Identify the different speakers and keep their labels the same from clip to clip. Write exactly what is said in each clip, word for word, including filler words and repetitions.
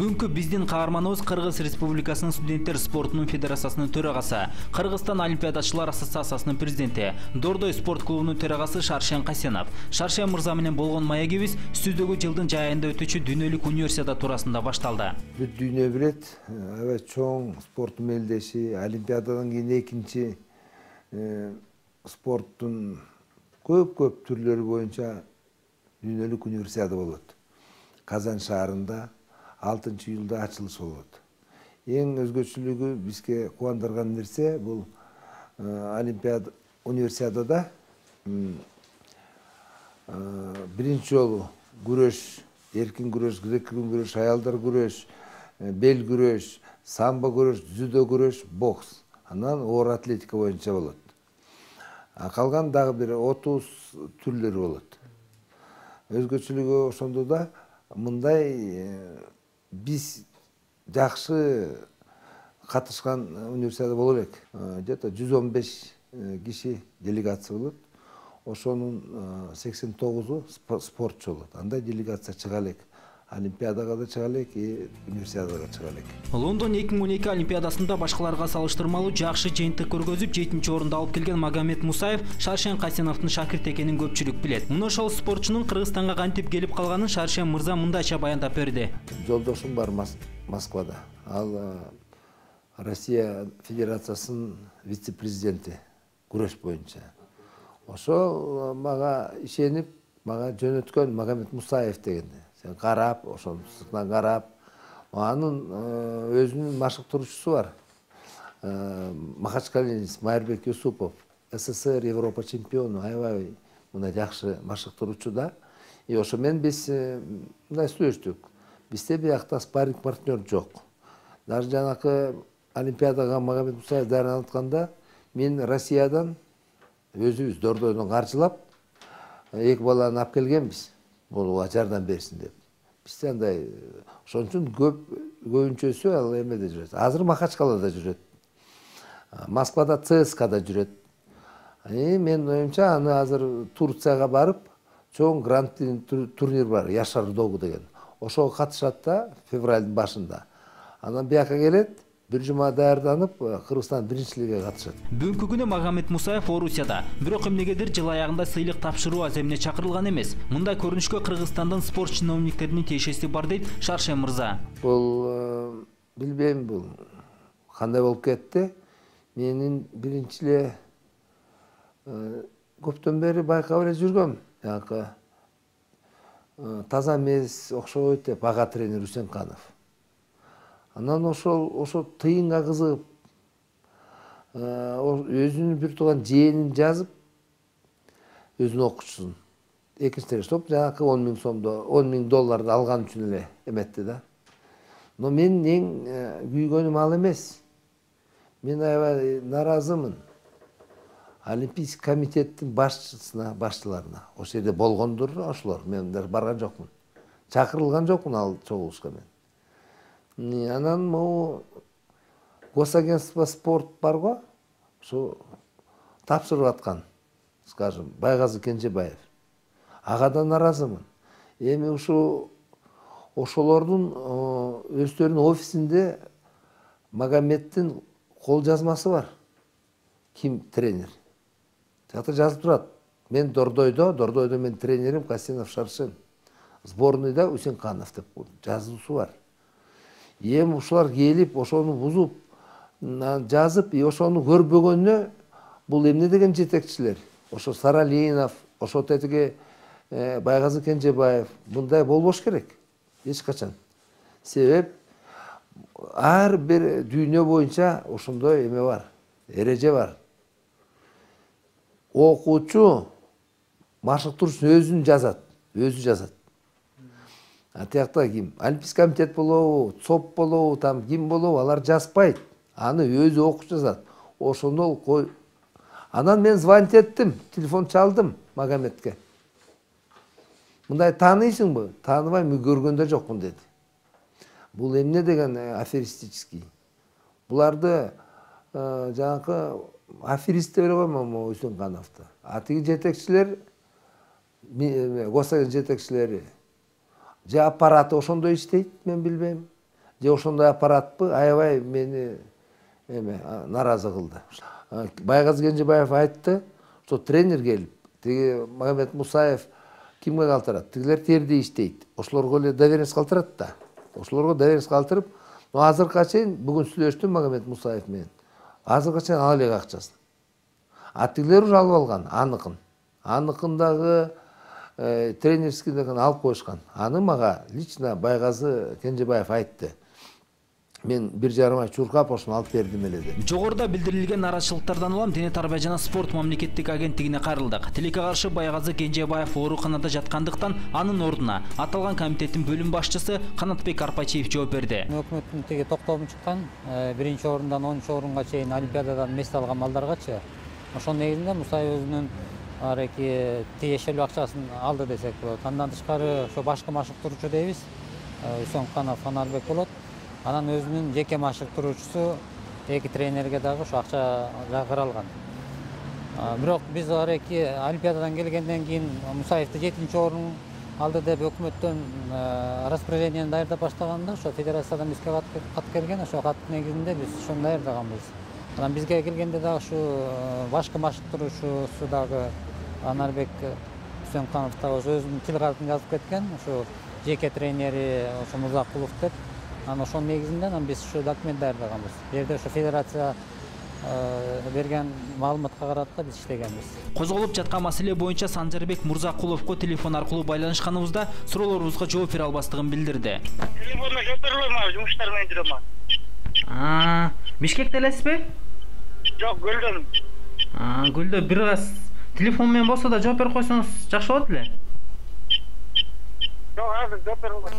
Speaker 1: Бүгүнкү биздин каарманыбыз Кыргыз Республикасынын студенттер спортунун федерациясынын төрагасы, Кыргызстан олимпиадачылар ассоциациясынын президенти, Дордой спорт клубунун төрагасы Шаршен Касенов. Шаршен мырза менен болгон маегибиз студиодогу жылдын жай айында өтүүчү дүйнөлүк универсиада туурасында башталды.
Speaker 2: Бүт дүйнө билет, аябай чоң спорт мелдеши, олимпиададан кийин экинчи спорттун көп-көп түрлөрү боюнча дүйнөлүк универсиада болот. Казан шаарында алтынчы июлда ачылыш болот. Эң өзгөчөлүгү бизге кубандырган нерсе бул олимпиада универсиадада биринчи жолу күрөш, эркин күрөш, грек-рим күрөш, аялдар күрөш, бел күрөш, самбо күрөш, дзюдо күрөш, бокс, анан оор атлетика боюнча болот. Калган дагы бир отуз түрлөрү болот. Өзгөчөлүгү ошондо да мындай биз жакшы катышкан универсиада боло элек. Где-то жүз он беш киши делегация болот. Ошонун сексен тогузу спортчу болот. Андай делегация чыга элек. Олимпиадага да чыга элек, и универсиадага чыга элек.
Speaker 1: Лондон эки миң он эки олимпиадасында башкаларга салыштырмалуу жакшы жыйынтык көргөзүп, жетинчи орунду алып келген Магомед Мусаев Шаршен Касеновдун шакирти экенин көпчүлүк билет. Муну ошол спортчунун Кыргызстанга кантип келип калганын Шаршен мырза мындайча баяндап берди.
Speaker 2: Жолдошум бар Москвада. Ал Россия Федерациясынын вице-президенти күрөш боюнча. Ошол мага ишенип, мага жөнөткөн Магомед Мусаев дегенди. Сен карап, ошонун сыртынан карап, анын өзүнүн машыктыруучусу бар. Махачкалинец Майырбек Юсупов, СССР Европа чемпиону, аябай мындай жакшы машыктыруучу да. И ошо менен биз мындай сүйлөштүк. Бизде биякта спарринг партнер жок. Даже жанакы олимпиадага Магомед Мусаев даярданып атканда, мен Россиядан өзүбүз Дордойдон каржылап, эки баланы алып келгенбиз. Буга жардам берсин деп. Бизде андай ошон үчүн көп көбүнчөсү ал эмеде жүрөт. Азыр Махачкалада жүрөт. Москвада ЦСКада жүрөт. И мен оюмча аны азыр Турцияга барып, чоң гранд турнир бар, Яшар Догу деген. Ошого катышат да февралдын башында. Анан бияка келет, бир жума даярданып, Кыргызстан биринчилиgiне катышат.
Speaker 1: Бүгүнкү күнү Магомед Мусаев Орусияда, бирок эмнегедир жыл аягында сыйлык тапшыруу аземине чакырылган эмес. Мындай көрүнүшкө Кыргызстандын спорт чиновниктеринин тиешеси бар дейт Шаршен мырза.
Speaker 2: Бул билбейм, бул кандай болуп кетти. Менин биринчи эле көптөн бери байкап эле жүргөм. Жанакы таза эмес, окшобойт деп ага тренер Үсенканов. Анан ошол ошо тыйынга кызыгып, өзүнүн бир тууган жээнин жазып, өзүнүн окуучусун экинчи топ жанакы он миң сомдо, он миң долларды алган үчүн эле эметти да. Но мен эң күйгөнүм ал эмес. Мен аябай наразымын. Олимпийский комитеттин башчысына, башчыларына. Ошол жерде болгондур ошолор. Мен даже барган жокмун. Чакырылган жокмун ал чогулушка мен. Анан могу госагентство спорт бар го, ошо тапшырып аткан, скажем, Байгазы Кенжебаев. Ага да наразымын. Эми ушу ошолордун өздөрүнүн офисинде Магомеддин кол жазмасы бар. Ким тренер? Жакта жазып турат. Мен Дордойдо, Дордойдо мен тренерим Касенов Шаршен. Сборныйда Үсенканов деп жазуусу бар. Эми ушулар келип, ошону бузуп, жазып, и ошону көрбөгөнүнө бул эмне деген жетекчилер? Ошо Саралинов, ошо тетиги Байгазы Кенжебаев, мындай болбош керек. Эч качан. Себеп ар бир дүйнө боюнча ошондой эме бар, эреже бар. Окуучу машыктыруучусун өзүн жазат, өзү жазат. А тиякта ким? Олимпийский комитет болобу, ЦОП болобу, там ким болобу, алар жазбайт. Аны өзү окуп жазат. Ошону кой. Анан мен звонить эттим, телефон чалдым Магомедке. Мындай тааныйсыңбы? Тааныбайм, көргөндө жокмун деди. Бул эмне деген аферистический. Буларды жанакы аферист деп эле коймом Үсенкановду. А тиги жетекчилер, госагент жетекчилери, же аппараты ошондой иштейт, мен билбейм. же ошондой аппаратпы, аябай мени эме нааразы кылды. Байгазы Кенжебаев айтты, ошо тренер келип, тиги Магомед Мусаев кимге калтырат? Тигилер терди иштейт. Ошолорго эле доверенность калтырат да. Ошолорго доверенность калтырып, азыркыга чейин бүгүн сүйлөштүм Магомед Мусаев менен. Азыркыга чейин ала элек акчасын. А тигилер уже алып алган, аныкын. Аныкындагы тренерскийден алып коюшкан. Аны мага лично Байгазы Кенжебаев айтты. Мен бир жарым ай чуркап ошону алып бердим эле деп.
Speaker 1: Жогоруда билдирилген нараачылыктардан улам Дене тарбия жана спорт мамлекеттик агенттигине кайрылдык. Тилекке каршы Байгазы Кенжебаев ооруканада жаткандыктан анын ордуна аталган комитеттин бөлүм башчысы Канатбек Арпачиев жооп берди.
Speaker 3: Өкмөттүн теги токтому чыккан биринчи орундан онунчу орунга чейин олимпиададан мест алган балдаргачы. Ошонун негизинде Мусаев өзүнүн ареки тиешелүү акчасын алды десек болот. Андан тышкары ошо башкы машыктыруучу дейбиз. Үсөнканов Анарбек болот. Анан өзүнүн жеке машыктыруучусу эки тренерге дагы ошо акча каралган. Бирок биз ареки олимпиададан келгенден кийин Мусаевди жетинчи орун алды деп өкмөттөн распоряжениени даярдап баштаганда ошо федерациядан бизге кат келген, ошо каттын негизинде биз ошону даярдаганбыз. Анан бизге келгенде дагы ушу башкы машыктыруучусу дагы Анарбек Үсөнканов дагы өзүнүн тил катын жазып кеткен, ошо жеке тренери ошо Мурзакулов деп. Анан ошонун негизинде биз ушу документ даярдаганбыз. Бу жерде ошо федерация берген маалыматка карата биз иштегенбиз.
Speaker 1: Козголуп жаткан маселе боюнча Санжарбек Мурзакуловго телефон аркылуу байланышканыбызда суроолорубузга жооп бере албастыгын билдирди.
Speaker 4: Телефонго жооп бере албайм, жумуштар менен жүрөм.
Speaker 1: А, Бишкекте элесизби?
Speaker 4: Жок, Гүлдөн.
Speaker 1: А, Гүлдө бир аз телефон менен болсо да жооп берип койсоңуз жакшы болот эле.
Speaker 4: Жок, азыр жооп бере албайм.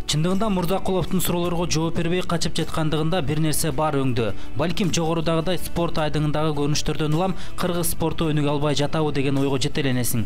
Speaker 1: Чындыгында Мурзакуловдун суроолорго жооп бербей качып жаткандыгында бир нерсе бар өңдө. Балким жогорудагыдай спорт айдыңындагы көрүнүштөрдөн улам кыргыз спорту өнүгө албай жатабы деген ойго жетеленесиң.